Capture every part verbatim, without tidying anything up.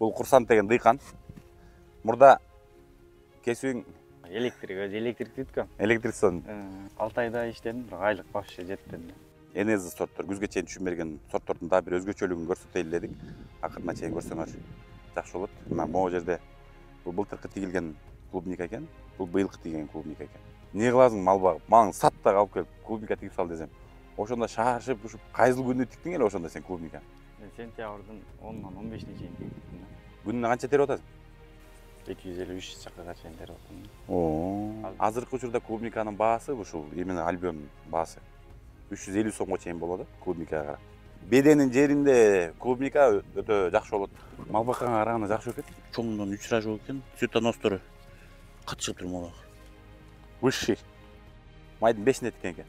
Бул Курсант деген дыйкан. Мурда кесүүң Электрик, өзү электрик бүткөм. электриксон. алты айда иштедим, бирок айлык вообще жетпеди. Энези сорттор, күзгө чейин түшүм берген сорттордун дагы бир өзгөчөлүгүн көрсөтөйлү дедик. Акырына чейин көрсөңөр жакшы болот. Мына могу жерде бул былтыркы тигилген клубника экен. Бул быйылкы тигилген клубника экен. Эмне кыласың мал багып? Мага сат да алып келип клубника тигип сал десем. Ошондо шаарышып, ушуп кайсыл күндү тиктиң эле ошондо сен клубника? Мен сентябрдын онунан он бешине чейин тигиптим. Күнүнө канча терип атасың? эки жүз элүү үч чакырга чейин терип атам. Оо. Азыркы учурда клубниканын баасы ушул именно альбион баасы үч жүз элүү сомго чейин болот клубникага карап. Беденин жеринде клубника өтө жакшы болот. Мал бакканга караганда жакшы экен. Чоңунан үч рожок экен. Цветоностору кат чыгып тур мага. Высший. Майдын бешине тиккен экен.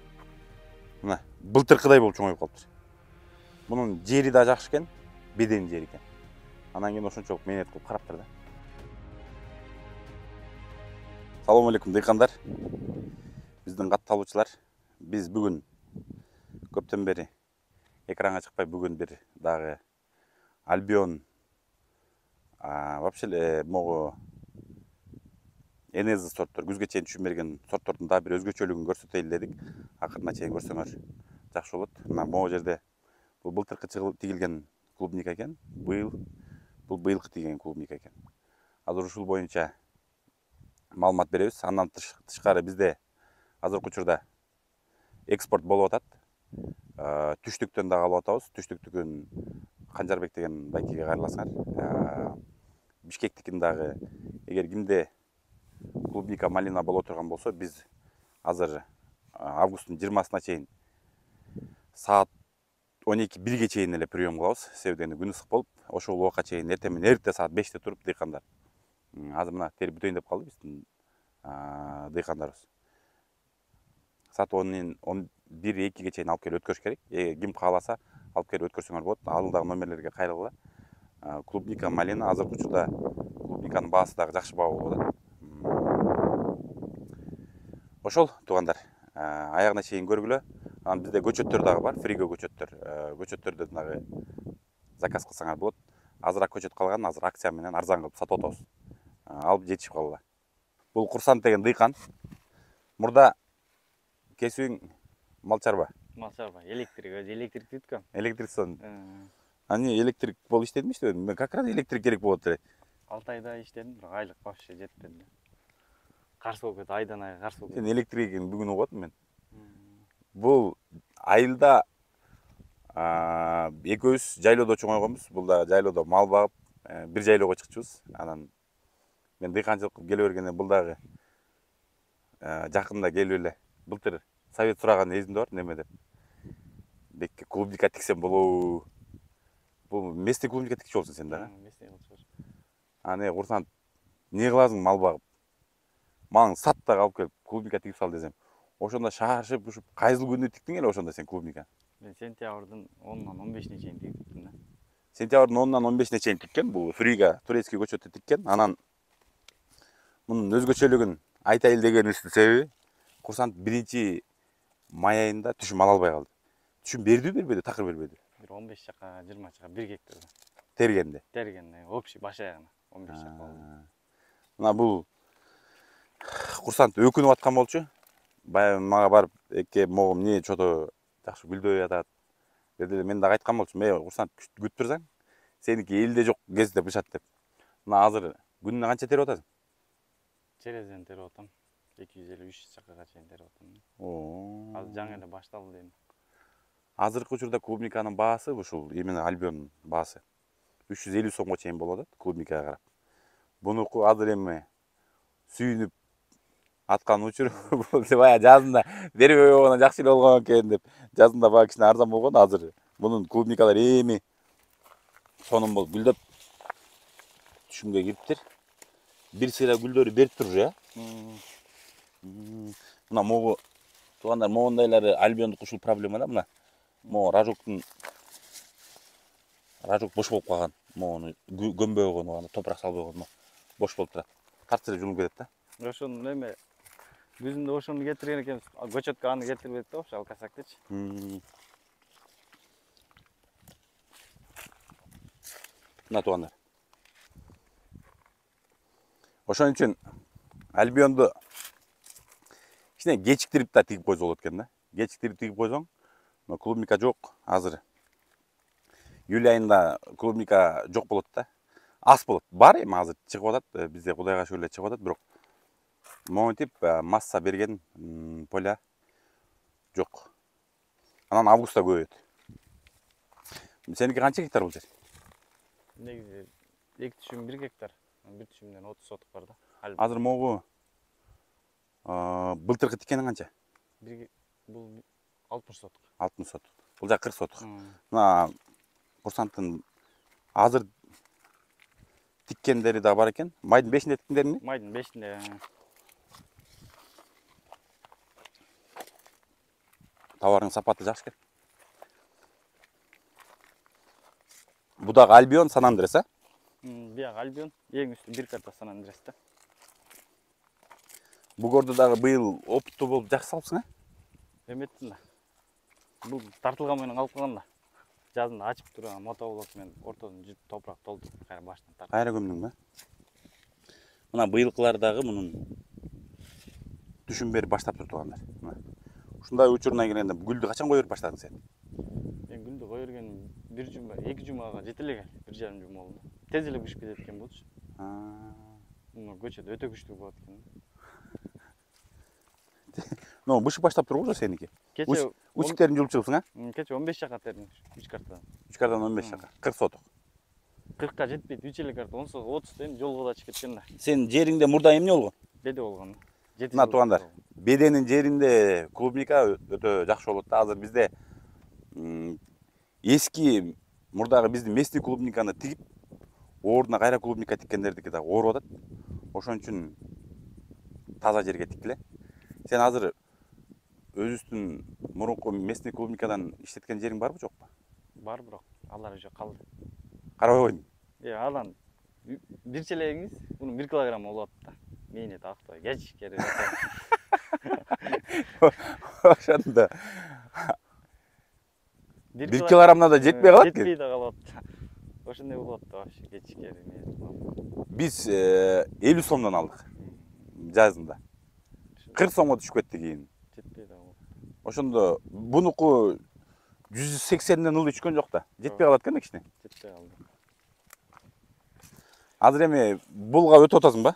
Мына былтыркыдай болуп чоңоюп калыптыр. Мунун жери да жакшы экен, беденин жери экен. Анан кийин ошончолук менет кылып караптыр да. Салам алейкум дыйкандар. Биздин катталуучулар. Биз бүгүн көптөн бери экранга чыкпай бүгүн бир дагы альбион вообще эле могу энези сорттор, күзгө чейин түшүм берген сорттордун дагы бир өзгөчөлүгүн көрсөтөйлү дедик. Акырына чейин көрсөңөр жакшы болот. Мына могу жерде бул былтыркы тигилген клубника экен. Быйыл бул быйылкы тигилген клубника экен. Азыр ушул боюнча маалымат беребиз. Андан тышкары бизде азыркы учурда экспорт болуп атат. Түштүктөн дагы алып атабыз. Түштүктүкүн Канжарбек деген байкеге кайрыласыңар. Бишкектикин дагы эгер кимде клубника малина боло турган болсо, биз азыр августтун жыйырмасына чейин саат он эки бирге чейин эле прием кылабыз. Себеби күн ысык болуп, ошол убакка чейин эртең менен эрте саат беште туруп дыйкандар. Азыр мына терип бүтөйүн деп калды биздин дыйкандарыбыз. Саат он бир экиге чейин алып келип өткөрүш керек. Ким кааласа алып келип өткөрсөңөр болот. Алдыдагы номерлерге кайрылгыла. Клубника малина азыркы учурда клубниканын баасы дагы жакшы баа болуп атат. Ошол туугандар, аягына чейин көргүлө. Анан бизде көчөттөр дагы бар, фриго көчөттөр. Көчөттөрдөн дагы заказ кылсаңар болот. Азыраак көчөт калган, азыр акция менен арзан кылып сатып атабыз. Алып жетишип калгыла. Бул Курсант деген дыйкан. Мурда кесүүң мал чарба. Мал чарба, электрик, өзү электрик бүткөм. Электриксон. Ани электрик болуп иштедимби иштебедимби? Мен как раз электрик керек болот эле. алты айда иштедим, бирок айлык вообще жетпеди. Каршы болуп кетти, айдан айга каршы болуп кетти. Сен электрик экенин бүгүн угуп атам мен. Бул айылда экөөбүз жайлоодо чоңойгонбуз. Бул да жайлоодо мал багып, бир жайлоого чыкчубуз. Анан мен дыйканчылык кылып келе бергенде бул дагы жакында келип эле былтыр совет сураган эсимде бар, неме деп. Бекке клубника тиксем болобу? Бул местный клубника тикчү болсуң сен да? Местный болчу. А не Курсант, эмне кыласың мал багып? Мага сат да алып келип клубника тигип сал десем. Ошондо шаарышып, ушуп кайсыл күндү тиктиң эле ошондо сен клубника? Мен сентябрдын онунан он бешине чейин тигиптим да. Сентябрдын онунан он бешине чейин тиккен. Бул фрига турецкий көчөттү тиккен. Анан мунун өзгөчөлүгүн айтайын дегенибиздин себеби Курсант биринчи май айында түшүм ала албай калды. Түшүм бердиби, бербеди, такыр бербеди. Бир он беш чака, жыйырма чака, бир гектарда. Тергенде. Тергенде, общий баш аягына он беш чака болду. Мына бул Курсант өкүнүп аткан болчу. Баягы мага барып, эке могу эмне чото жакшы гүлдөй атат. Деди, мен дагы айткан болчумун, "Эй, Курсант күтүп турсаң, сеники элде жок кезде бышат" деп. Мына азыр күнүнө канча терип атасың? Черезеден терип атам. эки жүз элүү үч чакырга чейин терип атам. Оо. Азыр жаңы эле башталды дейм. Азыркы учурда клубниканын баасы ушул именно альбион баасы үч жүз элүү сомго чейин болот клубникага карап. Бунуку азыр эми сүйүнүп аткан учур баягы жазында бербей койгондон жакшы эле болгон экен деп. Жазында баягы кичине арзан болгон, азыр мунун клубникалар эми сонун болуп гүлдөп түшүмгө кириптир. Бир сыйра гүлдөрү берип тур уже, э? Мына могу туугандар, могундайлары альбиондук ушул проблема да, мына. Могу рожоктун рожок бош болуп калган. Могуну көмбөй койгон, топурак салбай койгон, бош болуп турат. Тарт эле жулуп кетет да. Ошону эме күзүндө ошону кетирген экенбиз. Көчөткө аны кетирбедик да, ошо алкасактычы. Мына туугандар. Ошон үчүн альбионду кичине кечиктирип да тигип койсо болот экен да. Кечиктирип тигип койсоң, клубника жок азыр. Июль айында клубника жок болот да. Аз болот. Бар эми азыр чыгып атат, бизде Кудайга шүгүр эле чыгып атат, бирок монтип масса берген поля жок. Анан августта көбөйөт. Сеники канча гектар бул жер? Негизи эки түшүм бир гектар, бир түшүмдөн отуз сотук бар да. Азыр могу былтыркы тиккениң канча? Бул алтымыш сотук. алтымыш сотук. Бул жак кырк сотук. Мына курсанттын азыр тиккендери да бар экен. Майдын бешинде тиккендерби? Майдын бешинде. Товардын сапаты жакшы экен. Бу дагы Альбион, Сан Андрес, а? Биягы Альбион, эң үстү бир карта Сан Андрес да. Бугорду дагы быйыл опуттуу болуп жакшы салыпсың, а? Эметтин да. Бул тартылган менен калып калган да. Жазында ачып турган мото болот менен ортодон жүз топурак толтуруп кайра баштан тартып. Кайра көмдүң ба? Мына быйылкылар дагы мунун түшүн берип баштап тургандар. Мына. Ушундай учуруна келгенде гүлдү качан кое берип баштадың сен? Мен гүлдү кое бергеним бир жума, эки жумага жете элек, бир жарым жума болду. Тез эле бышып кетет экен болчу. Муну көчөдө өтө күчтүү болот экен. Но бышып баштап турбу сеники? Кече учуктерин жулуп чыгыпсың, а? Кече он беш жака тердим үч картадан. үч картадан он беш жака. кырк сотук. кыркка жетпейт, үч эле карта, он отуз эми жолго да чыгып кеткен да. Сен жериңде мурда эмне болгон? Беде болгон. Мына туугандар, беденин жеринде клубника өтө жакшы болот да. Азыр бизде эски мурдагы биздин местный клубниканы тигип, ордуна кайра клубника тиккендердики дагы ооруп атат. Ошон үчүн таза жерге тиккиле. Сен азыр өзүбүздүн мурунку местный клубникадан иштеткен жериң барбы, жокпу? Бар, бирок алар уже калды. Карабай койдуң? Э, анан бир челегиңиз, мунун бир килограмм болот да. Мени тактай, кеч керек. Ошондо бир килограммна да жетпей калат экен. Жетпей да калат. Ошондой болот да, вообще кеч керек. Биз элүү сомдон алдык жазында. кырк сомго түшүп кетти кийин. Жетпей да калат. Ошондо бунуку жүз сексенден ылдый түшкөн жок да. Жетпей калат экен да кичине. Жетпей калды. Азыр эми булга өтүп атасың ба?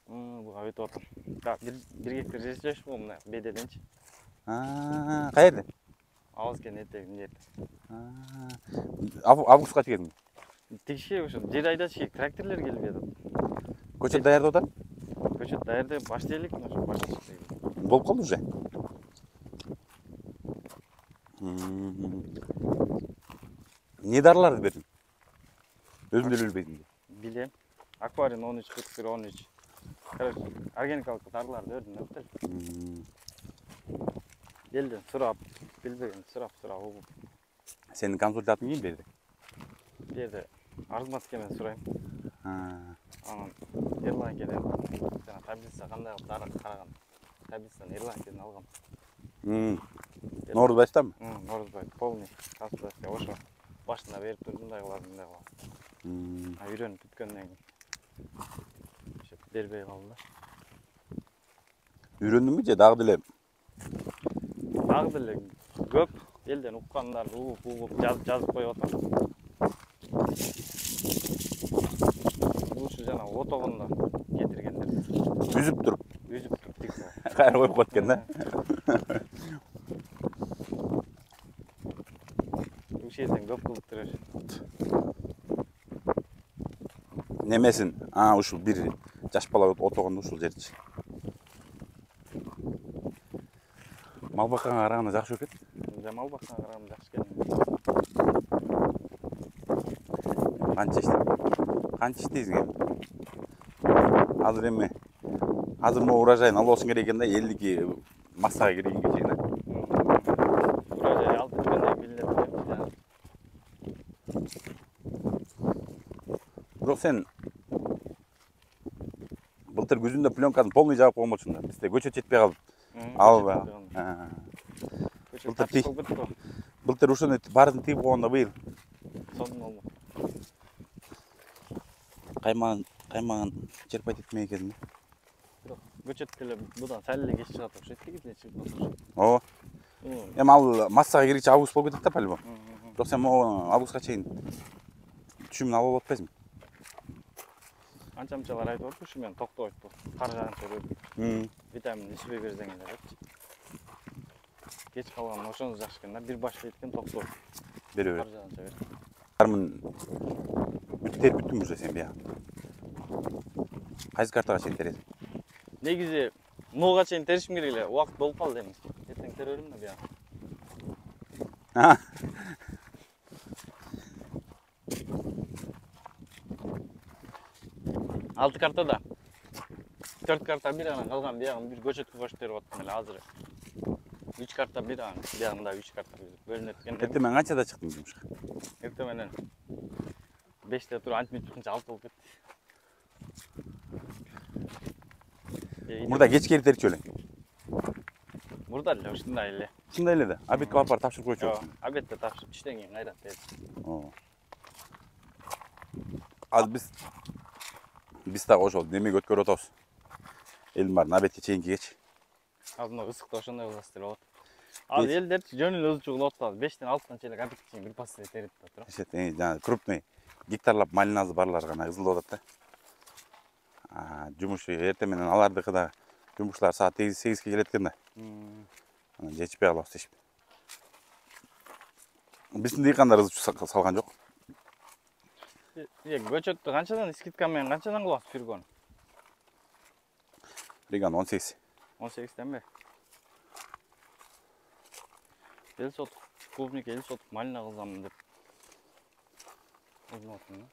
Буга өтүп атам. Да, бир гектар жер жашпагам мына бедеденчи. Аа, каерде? Авызкен этегинде. Августка тигесиң? Тигишке ошо жер айдаш керек, тракторлор келип жатат. Көчөт даярдап атат? Көчөт даярдап баштайлык, ошо башташты. Болуп калды уже? Не дарыларды бердиң? Өзүң деле билбейсиң. Билем. Акварин он үч кырк бир он үч. Короче, органикалык дарыларды бердим да. Элден сурап, билбеген сурап сурап угуп. Сенин консультантың ким берди? Бу жерде Арзматовке мен сурайм. Анан Эрлан келем. Жана таблица кандай кылып дары караган. Таблицаны Эрлан келен алгам. Норузбайстанбы? Норузбай, полный консультация ошо. Башында берип туруп мындай кыласың, мындай кыласың. А үйрөнүп бүткөндөн кийин ошо бербей калды да. Үйрөндүңбү же дагы деле? Дагы деле көп элден уккандарды угуп угуп жазып коюп атам. Ушу жана отогондо кетиргендер. Үзүп туруп. Үзүп туруп тик. Кайра коюп коет экен да. Ушул жерден көп кылып турар. Немесин? А, ушул бир жаш бала отогондо ушул жерчи. Мал бакканга караганда жакшы экен. Да, мал бакканга караганда жакшы экен. Канча иштеп? Канча иштейсиң эми? Азыр эми азыр могу урожайын алып алышың керек экен да, элдики массага киргенге чейин. Урожай алып бүткөндөн билинет. Бирок сен былтыр күзүндө пленканы полный жаап коймочсуң да. Бизде көчөт жетпей калып. Албы. Былтыр ушуну баарын тигип койгондо быйыл. Сонун болду. Кайман каймаган черпайт этмей кезинде. Бирок көчөт деле будан сәл эле кеч чыгат окшойт, тигиз эле чыгып окшойт. Ооба. Эми ал массага киргиче август болуп кетет да по-любому. Бирок сен могу августка чейин түшүмүн алып алып атпайсыңбы? Анча мынчалар айтып атып, ушу менен токтобойт бул. Кар жааганча көрүп. Витамин ичпей берсең эле депчи. Кеч калган ошону жакшы экен да, бир баштайт экен токтобойт. Бере бер. Кар жааганча бер. Кармын бүт терип бүттүң уже сен бия. Кайсы картага чейин тересиң? Негизи нууга чейин теришим керек эле, убакыт болуп калды эми. Эртең тере берем да бия. Алты картада төрт карта бир, анан калган биягын бир көчөткө кошуп берип аттым эле азыр. үч карта бир, анан биягында үч карта бөлүнөт экен. Эртең менен канчада чыктың жумушка? Эртең менен беште туруп антип чыкканча алты болуп кетти. Мурда кеч келип терчү элең. Мурда эле ушундай эле. Чындай эле да. Обедке барып барып тапшырып койчу. Жок, обедте тапшырып түштөн кийин кайра тердим. Оо. Азыр биз биз дагы ошол немеге өткөрүп атабыз. Элдин баарын обедке чейинки кеч. Азыр мына ысыкта ошондой кыласыз деп атат. Ал элдерчи жөн эле узчу кылып атат. бештен алтыдан чейин обедке чейин бир пассия терип атат. Жана крупный гектарлап малинасы барлар гана ызылдап атат да. А жумуш эртең менен алардыкы да жумушчулар саат сегизге келет экен да. Анан жетишпей калабыз дешип. Биздин дыйкандар ызып салган жок. Е, көчөттү канчадан скидка менен канчадан кылабыз фиргон? Фиргон он сегиз. он сегизденби? Эл сотук, клубника эл сотук малина кылсам деп. Өзүм аттым да.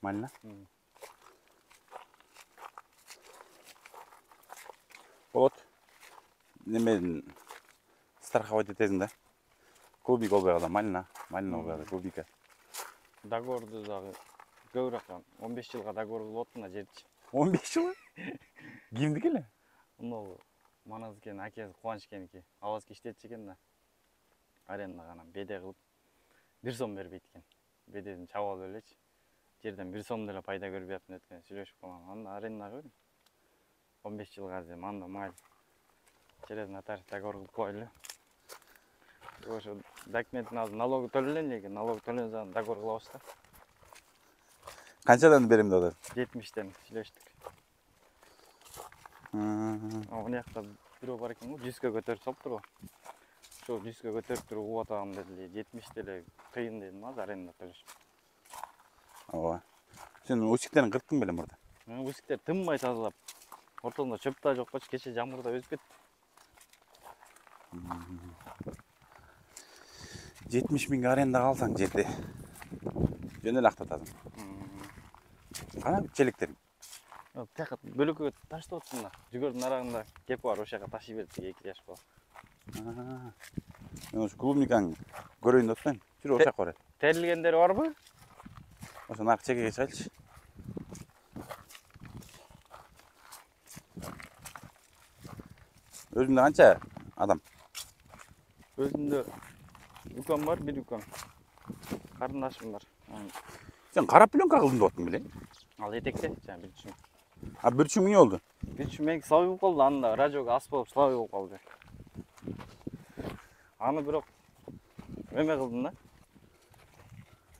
Малина? Болот. Немен страховать этесиң да. Клубника болбой калса малина, малина болбой калса клубника. Договорду дагы көбүрөөк он беш жылга договор кылып аттым да жерчи. он беш жылга? Кимдики эле? Мына Маназкенин акеси Кубанычкеники. Аласка иштетчи экен да. Арендага анан беде кылып бир сом бербейт экен. Бедедин чабып алып элечи. Жерден бир сом деле пайда көрбөй атмын эткени сүйлөшүп калган. Анда арендага бердим. он беш жылга азыр анда майыл. Через нотариус договор кылып койлу. Ошо документин азыр налогу төлөлөн экен, налог төлөнсө договор кылабыз да. Канчадан берем деп атат? жетимиштен сүйлөштүк. Мына жакта бирөө бар экен го, жүзгө көтөрүп салыптыр го. Ошо жүзгө көтөрүп туруп угуп атам деди. жетимиш деле кыйын дедим азыр аренда төлөш. Ооба. Сен усиктерин кырттың беле мурда? Усиктер тынбай тазалап. Ортосунда чөп да жок болчу, кече жамгырда өзүп кетти. жетимиш миңге арендага алсаң жерди жөн эле актатасың. Кана челектер? Тияка бөлөккө таштап атсың да. Жүгөрдүн арагында кепи бар, ошол жака ташый берди эки жаш бала. Мен ошо клубникаң көрөйүн деп атпаймынбы? Жүрүп ошол жака бар. Терилгендери барбы? Ошо нак чекеге чыгайлычы. Өзүндө канча адам? Өзүндө үкөм бар, бир үкөм. Карындашым бар. Сен кара пленка кылдым деп аттың беле? Ал этекте, жана бир үчүм. А бир үчүм эмне болду? бир үчүм меники слабый болуп калды, анда радиого ас болуп слабый болуп калды. Аны бирок эме кылдым да.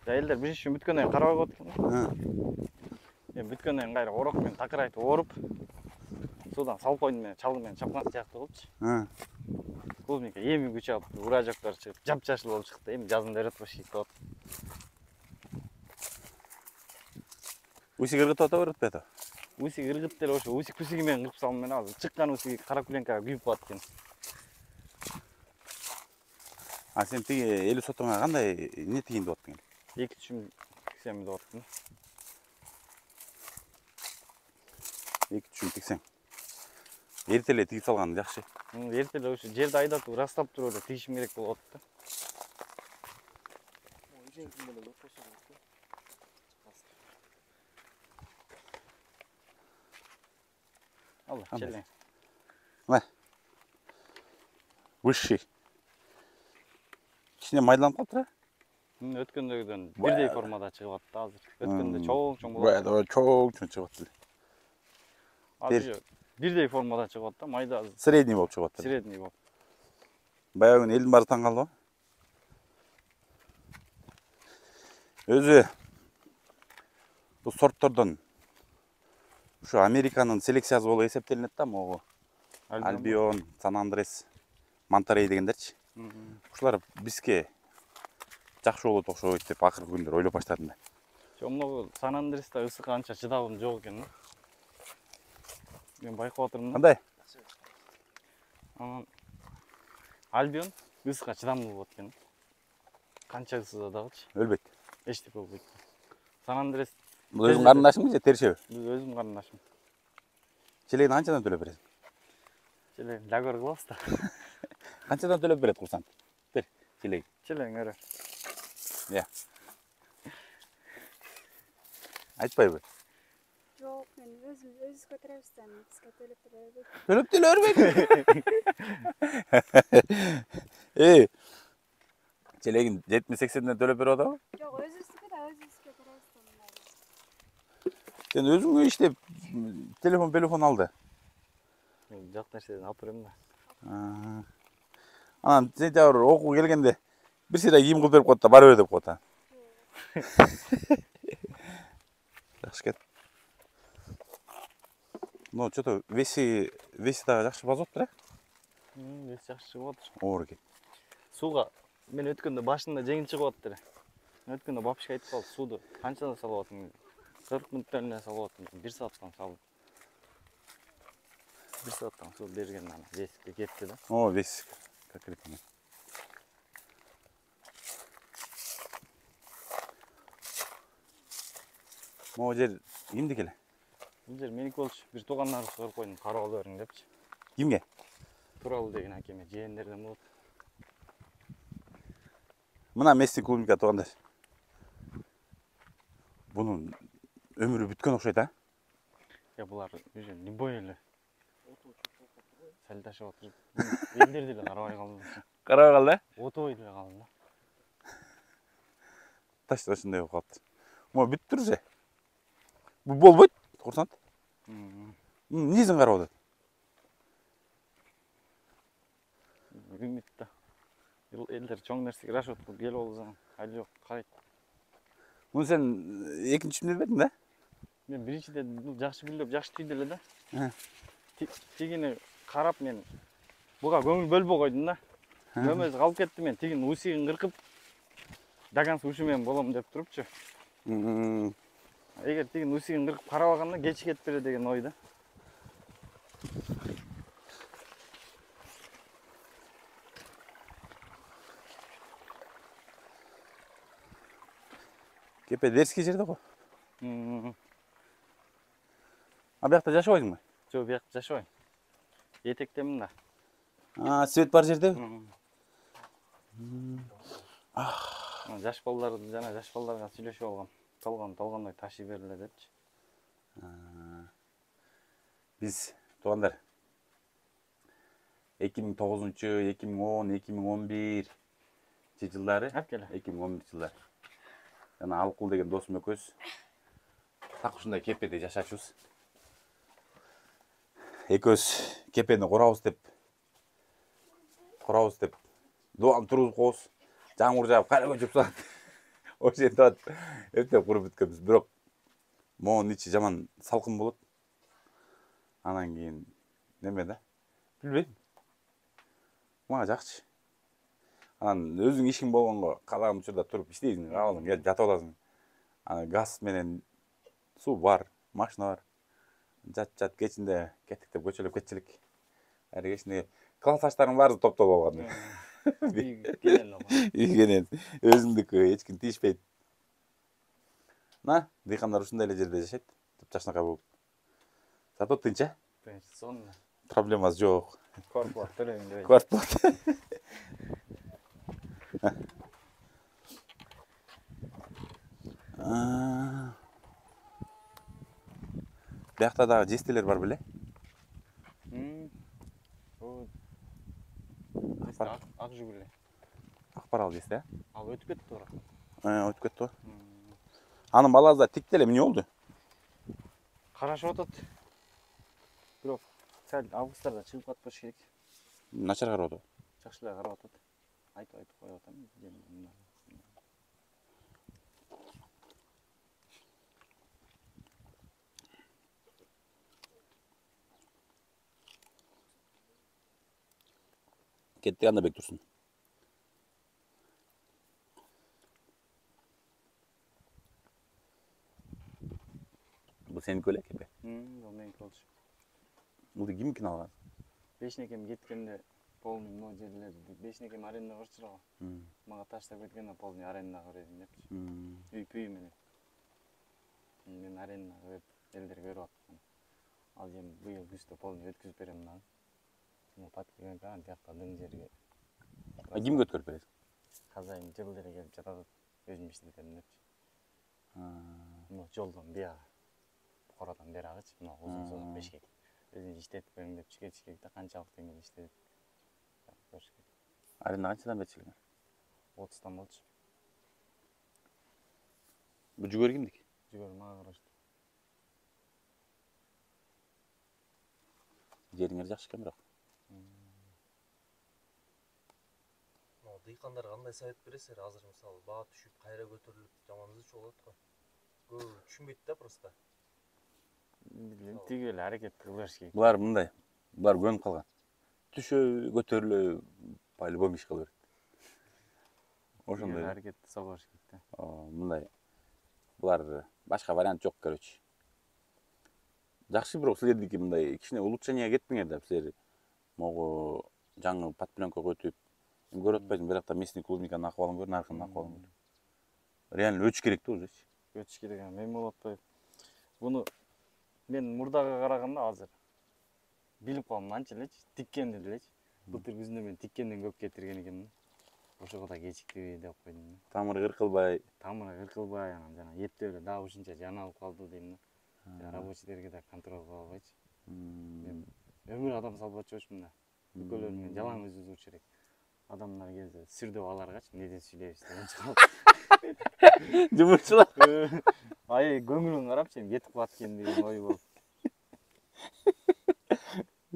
Элдер бир үчүм бүткөндөн кийин карабай коет экен да. Эми бүткөндөн кийин кайра орок менен такырайтып оруп, судан салып койдум менен, чалгы менен чапкан сыяктуу кылыпчы. Клубника эми күч алып, ура жоктор чыгып, жапжашыл болуп чыкты. Эми жазында өрөтүп керек деп атат. Усик ыргытып атабы, ыргытпай атабы? Усик ыргытып деле ошо усик усиги менен кырып салым менен азыр чыккан усиги кара пленкага күйүп калат экен. А сен тиги элүү сотуңа кандай эмне тигейин деп аттың? эки үчүм тиксем деп аттым. эки үчүм тиксең. Эрте эле тигип салган жакшы. Эрте эле ошо жерди айдатып, растап туруп эле тигишим керек болуп атты. Алла, челең. Мына. Высший. Кичине майдаланып калыптыр а? Өткөндөгүдөн бирдей формада чыгып атты азыр. Өткөндө чоң чоң болот. Баягы чоң чоң чыгып атты. Азыр бирдей формада чыгып атты, майда азыр. Средний болуп чыгып атты. Средний болуп. Баягы элдин баары таң калды. Өзү бул сорттордон ушу Американын селекциясы болуп эсептелинет да, могу Альбион, Сан Андрес, Монтерей дегендерчи. Ушулар бизге жакшы болот окшойт деп акыркы күндөр ойлоп баштадым да. Жок, могу Сан Андресте ысыкка анча чыдабым жок экен да. Мен байкап атырмын да. Кандай? Анан Альбион ысыкка чыдамдуу болот экен. Канча ысыда дагычы Өлбөйт. Эчтеке болбойт. Сан Андрес Бул өзүң карындашыңбы же теришеби? Бул өзүм карындашым. Челегин канчадан төлөп бересиң? Челегин лягөр кылабыз да. Канчадан төлөп берет курсант? Бер, челеги. Челең өрө. Я. Айтпайбы? Жок, мен өзүм өзүбүз көтөрөбүз, бизге төлөп бербейт. Төлөп деле бербейт. Эй. Челегин жетимиш сексенден төлөп берип атабы? Жок, өзүбүздүкү да өзүбүз көтөрөбүз да мындай. Сен өзүң иштеп телефон телефон алды. Мен жак нерседен алып берем да. Анан сентябрь окууга келгенде бир сыйра кийим кылып берип коет да, бара бер деп коет да. Жакшы экен. Ну, что-то веси веси дагы жакшы базоптур, э? Вес жакшы чыгып атыр. Оор экен. Сууга мен өткөндө башында жеңил чыгып атты эле. Өткөндө бабушка айтып калды, сууду канчадан салып атың? кырк мүнөттөн эле салып атым. бир сааттан салып. бир сааттан суу берген анан веске кетти да. О, вес конкретно. Могу жер кимдики эле? Бул жер меники болчу. Бир туугандарыбыз көрүп койдум, карап ала бериң депчи. Кимге? Туралы деген акеме, жээнерден болот. Мына Месси клубника туугандар. Бунун өмүрү бүткөн окшойт, а? Я булар уже любой эле. Сәл ташып атыр. Элдерди эле карабай калдым. Карабай калды, э? Отобой деле калдым да. Таш ошондой болуп калыптыр. Могу бүттүр же. Бул болбойт, курсант. Эмнесин карап атат? Үмүт да. Элдер чоң нерсеге рашот кылып келип алсаң, али жок, карайт. Муну сен экинчи түнү бердиң да? Мен биринчиде бул жакшы гүлдөп, жакшы түйдү эле да. Э. Тигини карап мен буга көңүл бөлбөй койдум да. Көмөз калып кетти, мен тигинин усигин кыркып даганс ушу менен болом деп турупчу. Эгер тигинин усигин кыркып карабаганда кеч кетип берет деген ойда. Кепе дерский жерде го. А биякта жашабайсыңбы? Жок, биякта жашабайм. Этектемин да. А, свет бар жерде? Жаш балдар жана жаш балдарга сүйлөшүп алгам. Талган талгандай ташый берле депчи. Биз туугандар эки миң тогузунчу, эки миң он, эки миң он бир жылдары, Апкеле. эки миң он бир жылдары. Жана Алкул деген досум экөөбүз так ушундай кепеде жашачубуз. Экөөбүз кепени курабыз деп, курабыз деп, дубан тургузуп коебуз. Жамгыр жаап, кайра көчүп саат. Ошентип атып, эптеп куруп бүткөнбүз. Бирок моунун ичи жаман салкын болот. Анан кийин неме да? Билбейм. Мага жакчы. Анан өзүң ишиң болгонго каалаган учурда туруп иштейсиң, кааласаң келип жатып аласың. Анан газ менен суу бар, машина бар. Жат-жат кечинде кеттик деп көчөлөп кетчилик. Ары кечинде классташтарым баары топтолуп алган. Ийгенен өзүңдүкү эч ким тийишпейт. На, дыйкандар ушундай эле жерде жашайт, жапжашнакай болуп. Зато тынч, э? Тынч, сонун. Проблемасы жок. Квартплата төлөйм дебейт. Квартплата. Биякта дагы жестелер бар беле? Ак жүгүлү. Акпарал жесте, э? Ал өтүп кетти бирок. өтүп кетти го. Анын баласы да тик деле эмне болду? Карашып атат. Бирок сәл августтарда чыгып калып болуш керек. Начар карап атат. Жакшы эле карап атат. Айтып айтып коюп атам. Кеттик анда бек турсун. Бул сеники беле кепе? Бул меники болчу. Бул кимдикин алган? Бешнекем кеткенде полный могу жерлерди. Бешнекем арендага берчү го. Мага таштап кеткенде полный арендага берейин депчи. Үй пүй менен. Мен арендага берип, элдерге берип аттым. Ал эми быйыл күздө полный өткүзүп берем дагы. Мына паткадан кан жакта дың жерге. А кимге өткөрүп бересиң? Казайым жыл деле келип жатат. Өзүм иштетем депчи. Мына жолдон бияга. Корадан берагычы, мына узун созон бешкек. Өзүң иштетип бериң деп чекет чекекте канчалык деңгээлде иштедип. Аренда канчадан берчилиңер? отуздан болчу. Бул жүгөр кимдики? Жүгөр мага караштуу. Жериңер жакшы экен бирок. Дыйкандарга кандай совет бересиздер? Азыр мисалы баа түшүп, кайра көтөрүлүп, жаман ызы болот го. Көбү түшүнбөйт да просто. Тиги эле аракет кыла бериш керек. Булар мындай. Булар көнүп калган. Түшө, көтөрүлө, по-любому иш кыла берет. Ошондой аракет сала бериш керек да. Мындай. Булар башка вариант жок көрөчү. Жакшы, бирок силердики мындай кичине улучшенияга кетпеңер да, силер могу жаңы подпленкага өтүп, көрүп атпайсың, бирок да местный клубниканын акыбалын көр, наркынын акыбалын көр. Реально өтүш керек да уже. Өтүш керек, мен болуп атпайбы. Буну мен мурдага караганда азыр билип калдым анча элечи, тиккенди элечи. Былтыр күзүндө мен тиккенден көп кетирген экенмин. Ошого да кечиктиби деп койдум. Тамыры кыркылбай, тамыры кыркылбай, анан жана эптөө эле дагы ушунча жаналып калды дейм да. Рабочийлерге да контроль кыла албайчы. Мен өмүр адам салбачу болчумун да. Бүкөлөрүнүн жалаң өзү узур керек. Адамдар келсе сүрдөп аларгачы, эмнеден сүйлөйбүз деп чыгып. жумушчулар. Ай, көңүлүн карапчы, эми кетип калат экен деген ой болуп.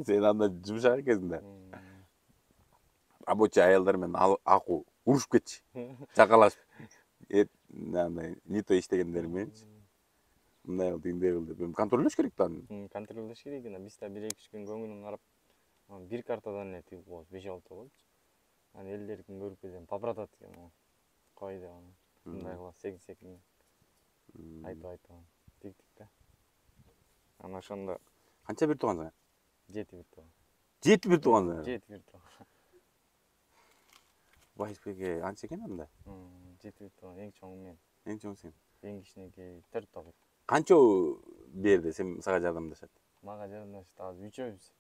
Сен анда жумшак экенсиң да. Рабочий аялдар менен акуу урушуп кетчи. Чакалашып. Эт андай не то иштегендер мененчи. Мындай кыл, тигиндей кыл деп. Контролдош керек да. Контролдош керек экен. Биз да бир эки үч күн көңүлүн карап, бир картадан эле тигип коебуз, беш алты болчу. Анан элдердикин көрүп келсем, папыратат экен. Кой деп анан. Мындай кылып секин-секин. Айтып айтып тиктик да. Анан ошондо Канча бир туугансың? жети бир тууган. жети бир туугансың? жети бир тууган. Байсбекке анча экен анда? жети бир тууган, эң чоңу мен. Эң чоң сен. Эң кичинекей төрт табыт. Канчоо берди сен сага жардамдашат? Мага жардамдашат азыр үчөөбүз.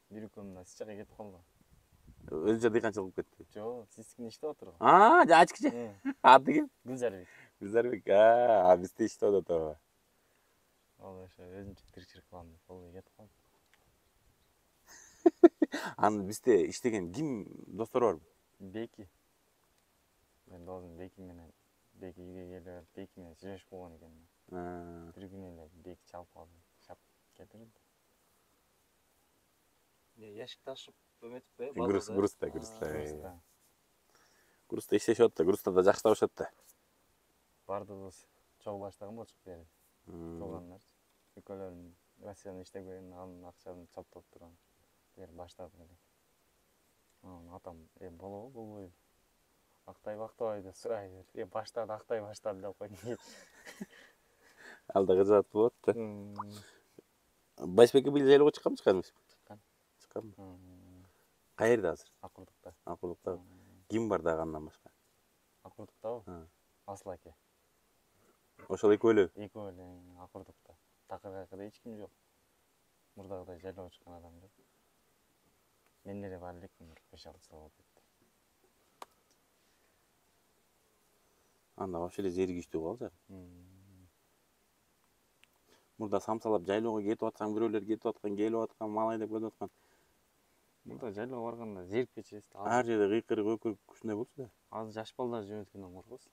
Бир экөөм мына сичага кетип калды. Өзүнчө дыйканчылык кылып кетти. Жок, сискин иштеп отур го. А, ачкычы. Аты ким? Гүлзарбек. Гүлзарбек. А, бизде иштеп атат. Ал ошо өзүнчө тиричилик кылам деп болбой кетип калды. Аны бизде иштеген ким достору барбы? Беки. Мен досум Беки менен Беки үйгө келип, Беки менен сүйлөшүп койгон экенмин. Бир күнү эле Беки чалып калды, чап кетирди. Не, яшик ташып эметиппи? Груз, грузда, грузда. Грузда. Грузда иштешип атат да, грузда да жакшы табышат да. Бардыгыбыз чогуу баштаган болчук бери. Туугандарчы. Экөөлөрүн Россиядан иштеген, анын акчасын чоптоп турган. Бери баштадык эле. Анан атам, э болобу, болбойбу? Актайбы, актабайбы деп сурай берди. Э баштады, актай баштады деп койдум. Ал да кызат болот да. Байсбекке быйыл жайлоого чыкканбы, чыкканбы? Чыккан. Чыкканбы? Каерде азыр? Акурдукта. Акурдукта. Ким бар дагы андан башка? Акурдуктабы? Асыл аке. Ошол экөө эле? Экөө эле Акурдукта. Такыр кайкыда эч ким жок. Мурдагыдай жайлоого чыккан адам жок. Мен эле бар элекмин, беш алты жыл болуп кетти. Анда вообще эле жери күчтүү калчу. Мурда самсалап жайлоого кетип атсаң, бирөөлөр кетип аткан, келип аткан, мал айдап кетип аткан. Мурда жайлоого барганда зерип кетчүбүз да. Ар жерде кыйкырык, өкүрүк ушундай болчу да. Азыр жаш балдар жөнөткөндөн коркобуз.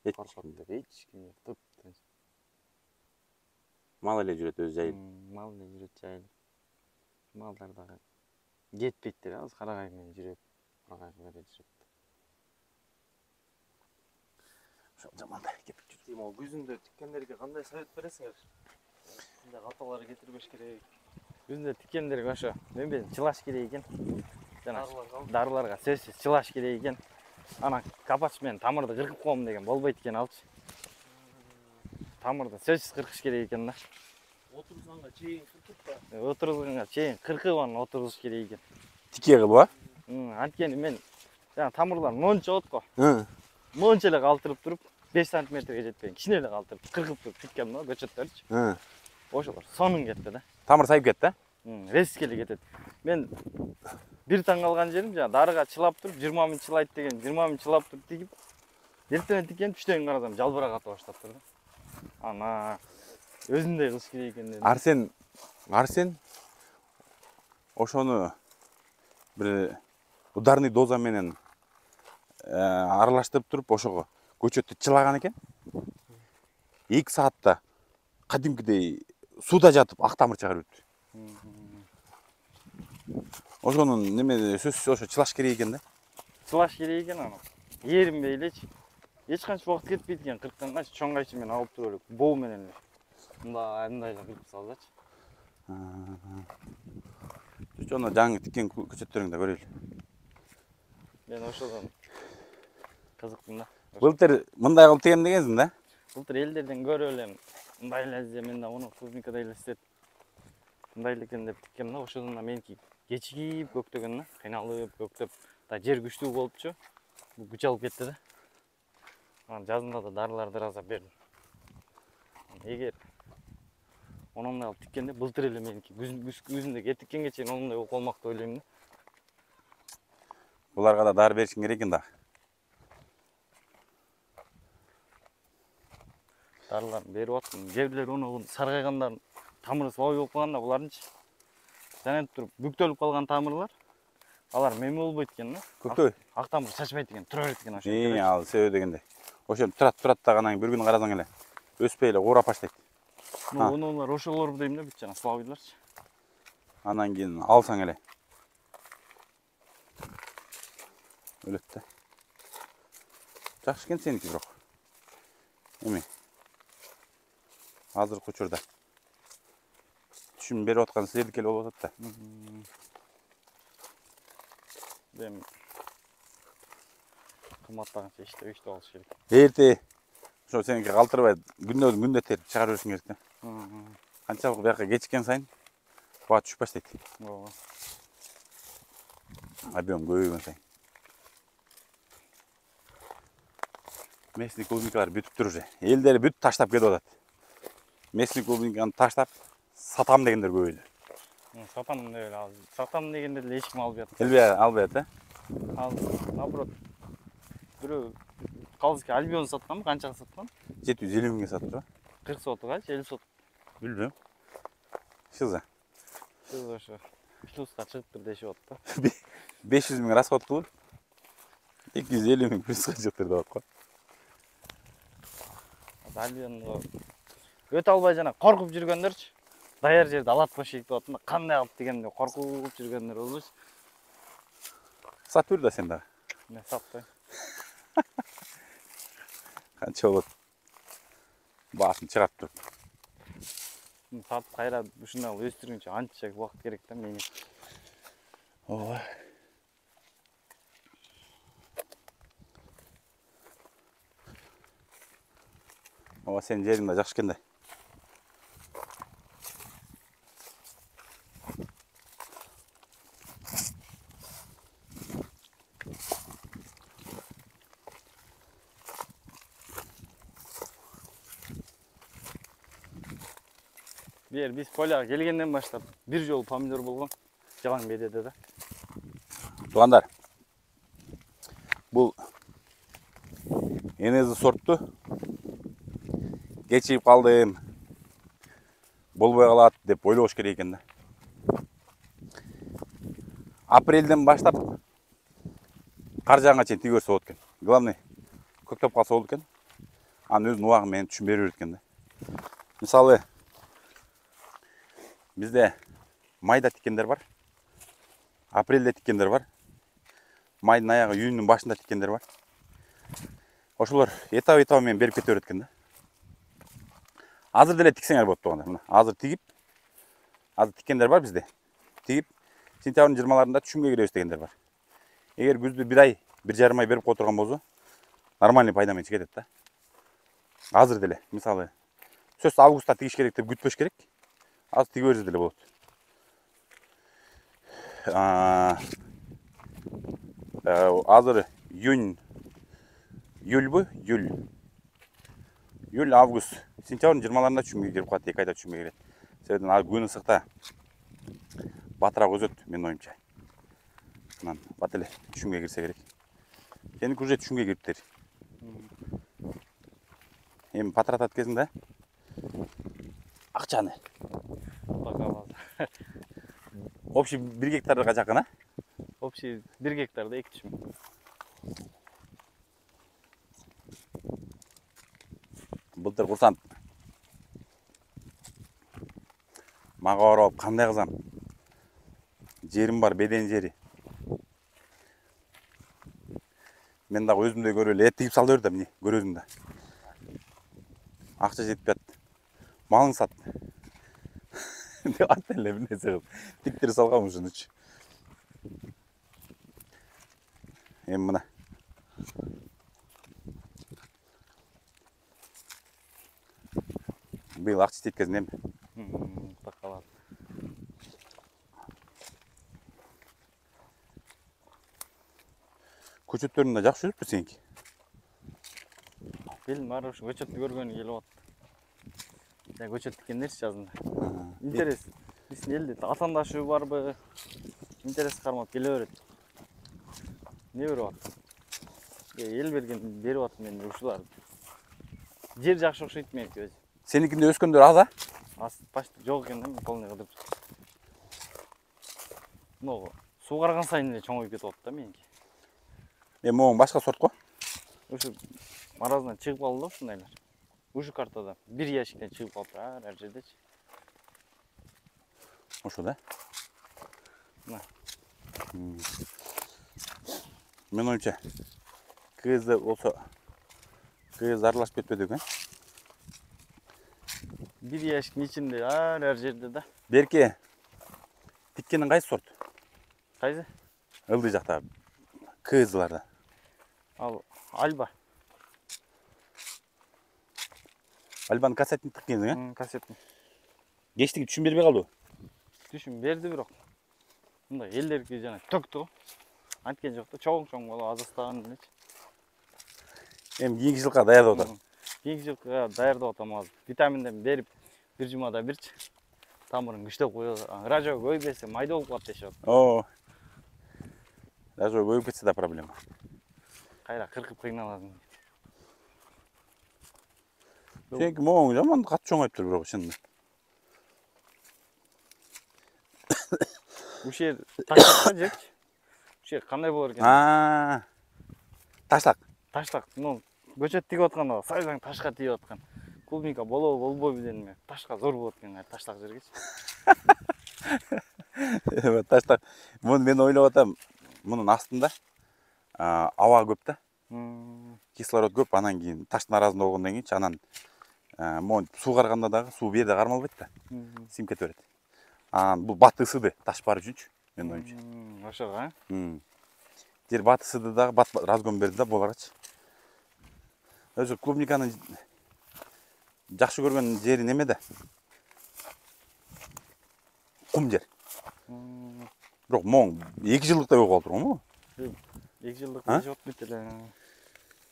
Эч коркот ким. деп эч ким жок. Тып-тынч. Мал эле жүрөт өзү жайылып. Мал эле жүрөт жайылып. Малдар дагы жетпейт деп азыр карагай менен жүрөт. Карагай бере жүрөт. Ошол жаманда кепип жүр. Тимол күзүндө тиккендерге кандай совет бересиңер? Кандай каталар кетирбеш керек? Күзүндө тиккендерге ошо мен чылаш керек экен. Жана Дарыларга дарыларга сөзсүз чылаш керек экен. Ана капач менен тамырды кыркып коем деген болбойт экен алчы. Тамырды сөзсүз кыркыш керек экен да. отурганга чейин кыркып да. Отурганга чейин кыркып анан отургуш керек экен. Тике кылып, а? Анткени мен жана тамырлар монча болот го. Ы. Монча эле калтырып туруп беш сантиметрге жетпеген кичине эле калтырып кыркып туруп тиккем да көчөттөрчү. Ы. Ошолор сонун кетти да. Тамыр сайып кетти, а? Резко эле кетет. Мен бир таң калган жерим жана дарыга чылап туруп жыйырма миң чылайт деген жыйырма миң чылап туруп тигип эртең тиккен түштөн карасам жалбыра ката баштаптыр да. Ана өзүндөй кылыш керек экен дедим. Арсен, Арсен ошону бир ударный доза менен аралаштырып туруп ошого көчөттү чылаган экен. эки саатта кадимкидей сууда жатып ак тамыр чыгарып өттү. Ошонун неме сөзсүз ошо чылаш керек экен да. Чылаш керек экен аны. Эринбей элечи. Эч канча убакыт кетпейт экен кыркканга чоң кайчы менен алып туруп элек. Боо менен эле. Мындай мындай эле кыркып салсачы. Жана жаңы тиккен көчөттөрүңдү көрөлү. Мен ошодон кызыктым да. Былтыр мындай кылып тиген дегенсиң да? Былтыр элдерден көрүп элем. Мындай эле изе мен да муну клубникада эле истеп. Мындай эле экен деп тиккем да. Ошодон да меники кечигип көктөгөн да. Кыйналып көктөп. Да жер күчтүү болупчу. Бу күч алып кетти да. Анан жазында да дарыларды раза бердим. Эгер онундай алып тиккенде былтыр эле меники күзүндө кеп тиккенге чейин онундай болуп калмак деп ойлойм да. Буларга да дары беришиң керек экен да. Дарыларын берип аттым. Кээ бирлер ону саргайгандарын тамыры слабый болуп калганда буларынчы жанентип туруп бүктөлүп калган тамырлар алар меми болбойт экен да. Көктөй. Ак тамыр чачпайт экен, тура берет экен ошо. Эң ал себеби дегенде. Ошентип турат турат да анан бир күн карасаң эле өспөй эле курап баштайт. Онолор ошолор дейм да бүт жана слабыйларчы. Анан кийин алсаң эле өлөт да. Жакшы экен сеники бирок. Эми азыркы учурда түшүм берип аткан силердики эле болуп атат да. Дем кымбаттаганча иштеп иштеп алыш керек. Эрте ошо сеники калтырбай күндөн күндө терип чыгарып беришиң керек да. Канчалык бияка кечиккен сайын баа түшүп баштайт. Ооба. Объем көбөйгөн сайын. Местный клубникалар бүтүп тур уже. Элдери бүт таштап кетип атат. Местный клубниканы таштап сатам дегендер көбөйдү. Сатам деп эле ал. Сатам дегенде эле эч ким албай атат. Элбей албайт да? Ал наоборот бирөө калыски альбион сатканбы, канчага саткан? жети жүз элүү миңге сатты. кырк сотугачы, элүү сот. Билбейм. Шыза. Сиз ошо плюска чыгыптыр дешип атты. беш жүз миң расход кылып эки жүз элүү миң плюска чыгыптыр деп атко. Альбионго өтө албай жана коркуп жүргөндөрчү. Даяр жерде алат бошик деп атты. Кандай алып дегенде коркуп жүргөндөр болбойчу. Сат бер да сен дагы. Мен сатпайм. Канча болот? Баасын чыгарып туруп. Сатып кайра ушундай кылып өстүргүнчө анча убакыт керек да менин. Ооба. Ооба сенин жериң да жакшы экен да. Бер биз поляга келгенден баштап бир жолу помидор болгон. Жалаң бедеде да. Туугандар. Бул энези сортту кечигип калдым. Болбой калат деп ойлош керек экен да. Апрелден баштап кар жааганга чейин тиги берсе болот экен. Главный көктөп калса болот экен. анын өзүнүн убагы менен түшүн бере берет экен да. Мисалы бизде майда тиккендер бар, апрелде тиккендер бар, майдын аягы июньдун башында тиккендер бар. Ошолор этап этабы менен берип кете берет экен да. Азыр деле тиксеңер болот туганда. Мына азыр тигип, азыр тиккендер бар бизде. Тигип сентябрдын жыйырмаларында түшүмгө киребиз дегендер бар. Эгер күздү бир ай, бир жарым ай берип кое турган болсо, нормальный пайда менен чыгат да. Азыр деле, мисалы, сөз августта тигиш керек деп күтпөш керек. Азыр тиге берсе деле болот. Азыр июнь, июльбү, июль. Июль, август, сентябрдын жыйырмаларында түшүмгө кирип калат, эки айда түшүмгө кирет. Себебинен ал күн ысыкта батыраак өзөт, менин оюмча. Анан бат эле түшүмгө кирсе керек. Сеники уже түшүмгө кириптир. Эми патыратат кезинде акчаны. Общий бир гектарга жакын, а? Общий бир гектарда эки түшүм. Былтыр курсант мага барып алып кандай кызам? Жерим бар, беден жери. Мен дагы өзүмдөй көрүп эле эт тигип сал бер да, эмне, көрөсүң да. Акча жетпей атты. Малың сат. Деп атты эле бир нерсе кылып. Тиктирип салгам ушунучу. Эми мына. Быйыл акча теткезин эми. Такалат. Көчөттөрүң да жакшы жүрүппү сеники? Келин баары ушу көчөттү көргөнү келип атты. Я көчөт тиккендерчи жазында. Интерес. Биздин элде атаандашы барбы? Интерес кармап келе берет. Не берип атты? Эл берген берип атты мен ушулар. Жер жакшы окшойт меники өзү. Сеникинде өскөндөр аз, а? Аз почти жок экен да, полный кыдырып. Но суу карган сайын эле чоңоюп кетип атты да меники. Эми могу башка сорт го? Ушу мараздан чыгып калды да ушундайлар. Ушу картада бир ящиктен чыгып калыптыр ар ар жердечи. Ошо да? Мына. Мен оюмча КЗ болсо КЗ аралашып кетпеди экен. Бир ящиктин ичинде ар ар жерде да. Берке тиккениң кайсы сорт? Кайсы? Ылдый жакта КЗларда. Ал Альба. Альбаны кассетин тиккенсиң, а? Кассетин. Кечтиги түшүн бербей калдыбы? Түшүн берди бирок. Мындай элдерки жана төктү. Анткен жок да, чоң-чоң болуп азастаган элечи. Эми кийинки жылга даярдап атат. Кийинки жылга даярдап атам азыр. Витаминден берип бир жумада бирчи. Тамырын күчтөп коёбуз. Ражо көйбөсө майда болуп калат дешип атат. О. Ражо көйүп кетсе да проблема. Кайра кыркып кыйналасың. Сеники моң жаман кат чоңоюптур бирок чынында. Ушул жер таштак жерчи. Ушул жер кандай болор экен? А. Таштак. Таштак. Ну, көчөт тигип атканда сайжаң ташка тийип аткан. Клубника болобу, болбойбу дедим мен. Ташка зор болот экен, таштак жергечи. Таштак. Муну мен ойлоп атам. Мунун астында аба көп да. Кислород көп, анан кийин таштын арасында болгондон кийинчи анан могу суу карганда дагы суу бу жерде кармалбайт да. Сиңип кете берет. Анан бул бат ысыды таш бар үчүнчү, менин оюмча. Ошого, а? Жер бат ысыды дагы, бат разгон берди да боларачы. Өзү клубниканын жакшы көргөн жери немеде? Кум жер. Бирок моң эки жылдыкта болуп калыптыр го. эки жылдыкта жок бүт эле.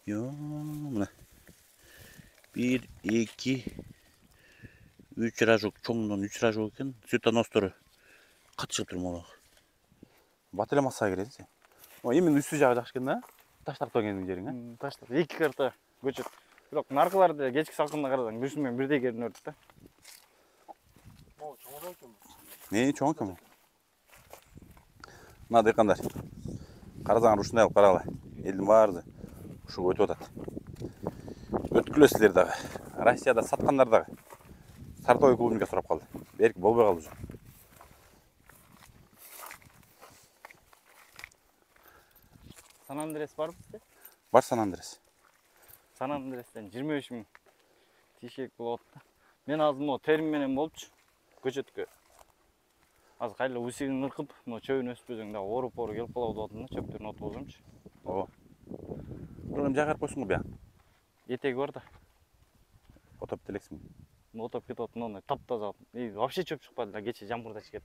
Yo, мына. бир, эки, үч ражок, чоңдон үч ражок экен. Цветоностору кат чыгып тур могу. Бат эле массага кирет сен. О, эми үстү жагы жакшы экен да? Таштакта экенсиң жериң, а? Таштак. эки карта көчөт. Бирок наркылар деле кечки салкында карасаң бүрсү менен бирдей көрүнөт да. Могу чоңойт экен. Не, чоң экен. Мына дыйкандар. Карасаңар ушундай кылып карагыла. Элдин баары ушуга өтүп атат. Өтүп күлөсүздөр дагы. Россияда саткандар дагы Сартовый клубника сурап калды. Берки болбой калды уже. Сан Андрес бар бизде? Бар Сан Андрес. Сан Андрестен жыйырма үч миң тишек болот да. Мен азыр могу терим менен болчу көчөткө. Азыр кайла усигин ыркып, мына чөбүн өспөсөң дагы ооруп-ооруп келип калабы деп атам да, чөптөрүн отургузумчу. Ооба. Бирок жагарып койсуң го буян. Этеги бар да. Отоп делексиң. Отоп кетип атып, мындай таптаза. И вообще чөп чыкпады да, кече жамгырда чыкет.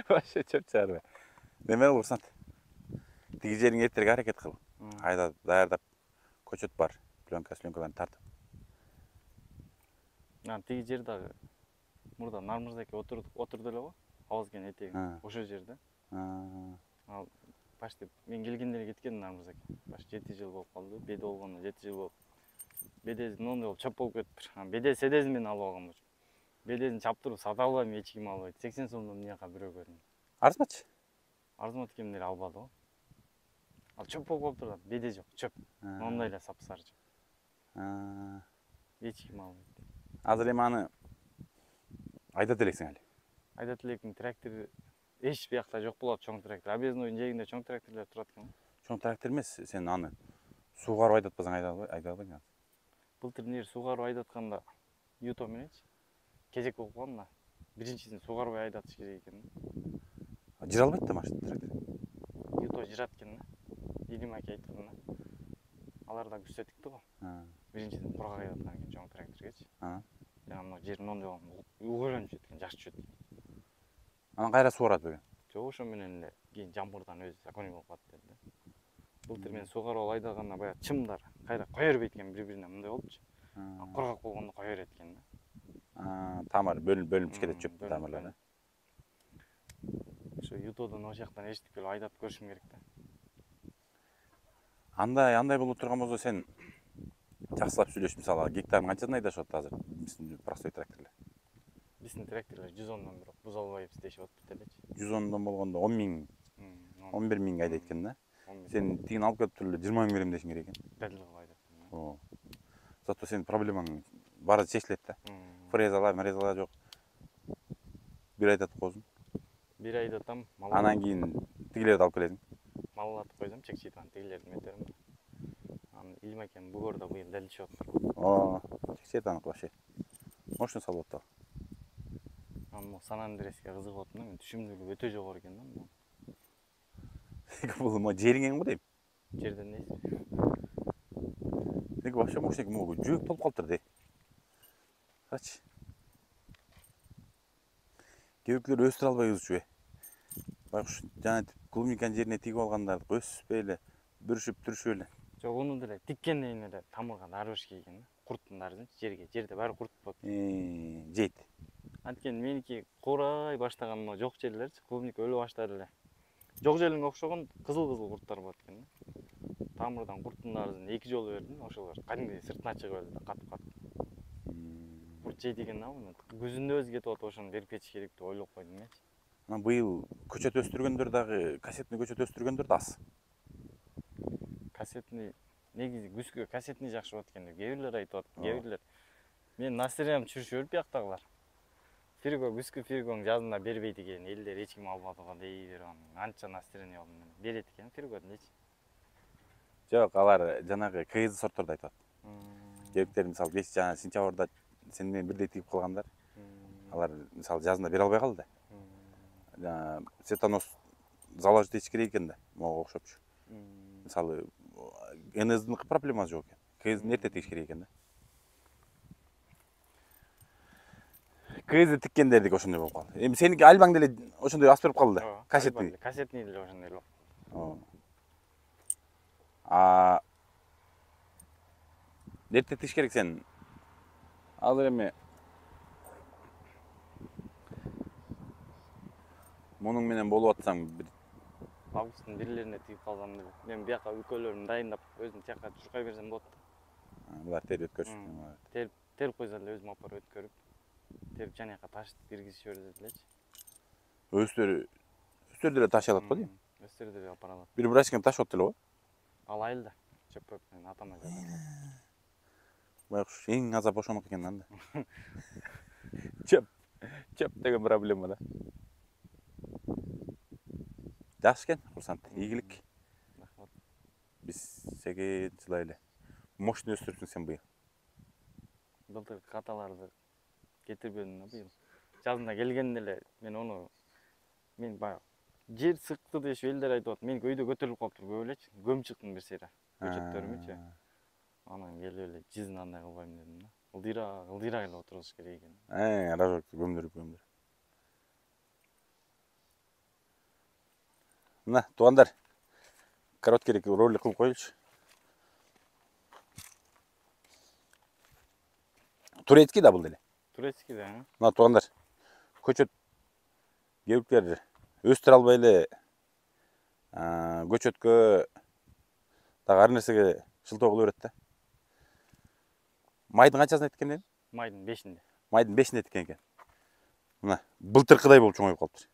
Вообще чөп чыгарбай. Неме кылсаң? Тиги жериң эртерээк аракет кыл. Айда даярдап көчөт бар. Пленка, пленкаларын тартып. Ана тиги жер дагы мурда Нармырзаке отурдук, отурду эле го. Абазкен этеги. Ошол жерде. Ал почти мен келгенде эле кеткен Нармырзаке. Баш жети жыл болуп калды. Беде болгондо жети жыл болуп. Бедезин ондой болуп чөп болуп кетиптир. Беде седезин мен алып алгам болчу. Бедезин чаптырып сата албайм, эч ким албайт. сексен сомдон эмне жака бирөө көрдүм. Арзымачы? Арзымат кемдер албады го. Ал чөп болуп калыптыр да, беде жок, чөп. Мондай эле сапсары жок. Эч ким албайт. Азыр эми аны айдат элексиң эле. Айдат элекмин, трактор эч биякта жок болот, чоң трактор. Объезднойдун жээгинде чоң тракторлор турат экен. Чоң трактор эмес, сен аны суугарып айдатпасаң айдай албай, айдай албайсың азыр. Былтыр нер суугарып айдатканда Юто мененчи кезек болуп калган да. Биринчисин суугарбай айдатыш керек экен. Жыра албайт да машина трактор. Юто жырат экен да. Илим аке айткан да. Алар да күзөтүктү го. Биринчисин кургак айдаткан экен чоң тракторгечи. Жана мына жер мондой угурланып жеткен, жаш чөт. Анан кайра суугарат бөгөн. Жок, ошо менен эле кийин жамгырдан өзү законий болуп калат деди. Былтыр мен суугарып айдаганда баягы чымдар кайра кое бербейт экен бири-бирине, мындай болчу. Кургак болгондо кое берет экен да. Тамыр бөлүнүп бөлүнүп чыкет чөп тамырлары. Ошо Ютодон ошол жактан эчтип келип айдап көрүшүм керек да. Андай андай болуп турган болсо сен жакшылап сүйлөш, мисалы гектарын канчадан айдашып атат азыр биздин простой тракторлор? Биздин тракторлор жүз ондон бирок буза албай иштешип атпайт элечи. жүз ондон болгондо он миң, он бир миң айдайт экен да. Сен тигин алып келип туруп эле жыйырма миң берем дешиң керек экен. Дел кылып айдап. Оо. Зато сенин проблемаң баары чечилет да. Фрезалар, мрезалар жок. Бир айдатып коесуң. Бир айдатам. Анан кийин тигилерди алып келесиң. Маллатып койсом, чекчейтан тигилерди метерим. Анан Илим акем бугордо быйыл делишип атат. Оо, чекчейтан вообще. Мощно салып атат. Анан Сан Андреске кызыгып атам да, мен түшүмдүүлүгү өтө жогору экен да. Бул мо жериң го дейм. Жерден нейси. Деги вообще мощный экен, могу жөөк толуп калыптыр де. Карачы. Кээбекилер өстүрө албай узчу. Байкуш жана клубниканын жерине тигип алгандарды өспөй эле, бүрүшүп түрүшүп эле. Жок, уну деле тиккенден эле тамырга дары бериш керек экен да. Курттун дарысын жерге, жерде баары курт болот. Э, жейт. Анткени меники куурай баштаган могу жок жерлерчи, клубника өлө баштады эле. Жок жеринге окшогон кызыл-кызыл курттар болот экен да. Тамырдан курттун дарысын эки жолу бердим, ошолор кадимгидей сыртына чыгып элди да, катып-катып. Курт жейт экен да муну. Күзүндө өзү кетип атып, ошону берип кетиш керек деп ойлоп койдум менчи. Анан быйыл көчөт өстүргөндөр дагы, кассетный көчөт өстүргөндөр да аз. Кассетный негизи күзгө кассетный жакшы болот экен деп кээ бирлер айтып атат. Кээ бирлер мен настроениям түшүрүшүп берип бияктагылар. Фирго күзгү фиргоң жазында бербейт экен, элдер эч ким албады го дей берип анча настроение болдум мен. Берет экен фирго дечи. Жок, алар жанагы КЗ сортторду айтып атат. Кээбиктер мисалы беш жана сентябрда сен менен бирдей тигип калгандар. Алар мисалы жазында бере албай калды. Жана цветонос заложить этиш керек экен да, могу окшопчу. Мисалы эн-эздин проблемасы жок экен. КЗдин эрте тигиш керек экен да. КЗ тиккендердики ошондой болуп калды. Эми сеники альбаң деле ошондой аз берип калды да. Кассетный. Кассетный деле ошондой болуп. Оо. А эрте тигиш керек сен. Азыр эми мунуң менен болуп атсаң бир августтун бирлерине тигип калсам деле. Мен бияка үлкөлөрүн дайындап, өзүм тияка чуркай берсем болот да. Булар терип өткөрүшүн. Терип, терип койсо эле өзүм алып барып өткөрүп, терип жана жака ташып киргизип жиберет элечи. Өстөрү өстөр деле ташый алат го дейм. Өстөр деле алып бара алат. Бир брачкам ташып атты эле го. Ал айылда. чөпөк менен атама жатат. Байкуш эң азап ошоноку экен анда. Чөп, чөп деген проблема да. Жакшы экен, курсант, ийгилик. Рахмат. Биз сеге жылай эле. Мощный өстүрүпсүң сен быйыл. Былтыр каталарды кетирбедим да быйыл. Жазында келгенде эле мен ону мен баягы жер сыкты дешип элдер айтып атат. Меники өйдө көтөрүлүп калыптыр көп элечи. Көмүп чыктым бир сыйра. Көчөттөрүмчү. Анан келип эле жизнь андай кылбайм дедим да. Ылдыйраак, ылдыйраак эле отурушуш керек экен. Э, ара көмдүрүп көмдүрүп. Мына, туугандар. Короткий ролик кылып коелучу. Турецкий да бул деле. Турецкий да. Мына туугандар. Көчөт кебиктер өстүрө албай эле көчөткө дагы ар нерсеге шылтоо кыла берет да. Майдын канчасын айткен экен? Майдын бешинде. Майдын бешинде эткен экен. Мына былтыркыдай болуп чоңоюп калыптыр.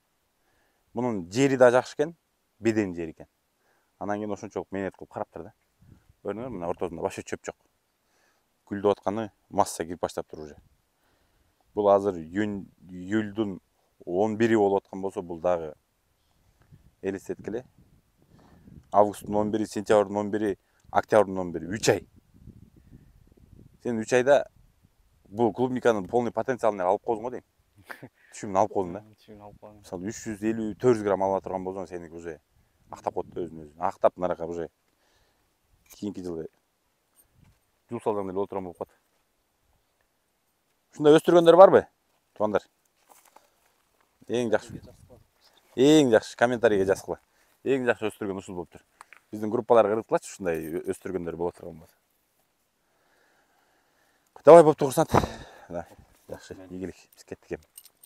Мунун жери да жакшы экен, беден жери экен. Анан кийин ошончолук мээнет кылып караптыр да. Көрдүңөрбү, мына ортосунда башка чөп жок. Гүлдөп атканы масса кирип баштаптыр уже. Бул азыр июлдун он бири болуп аткан болсо, бул дагы элестеткиле. Августтун он бири, сентябрдын он бири, октябрдын он бири, үч ай. Сен үч айда бул клубниканын полный потенциалын алып койдуң го дейм. Түшүмүн алып койдуң да. Түшүмүн алып койдум. Мисалы үч жүз элүү төрт жүз грамм ала турган болсоң, сеники уже актап коет да өзүн өзү. Актап наракка уже кийинки жылы жул салган эле боло турган болуп калат. Ушундай өстүргөндөр барбы, туугандар? Эң жакшы. Эң жакшы комментарийге жазгыла. Эң жакшы өстүргөн ушул болуптур. Биздин группаларга кыргыткылачы ушундай өстүргөндөр боло турган болсо. Давай бопту курсант. Да, жакшы, ийгилик. Биз кеттик эми.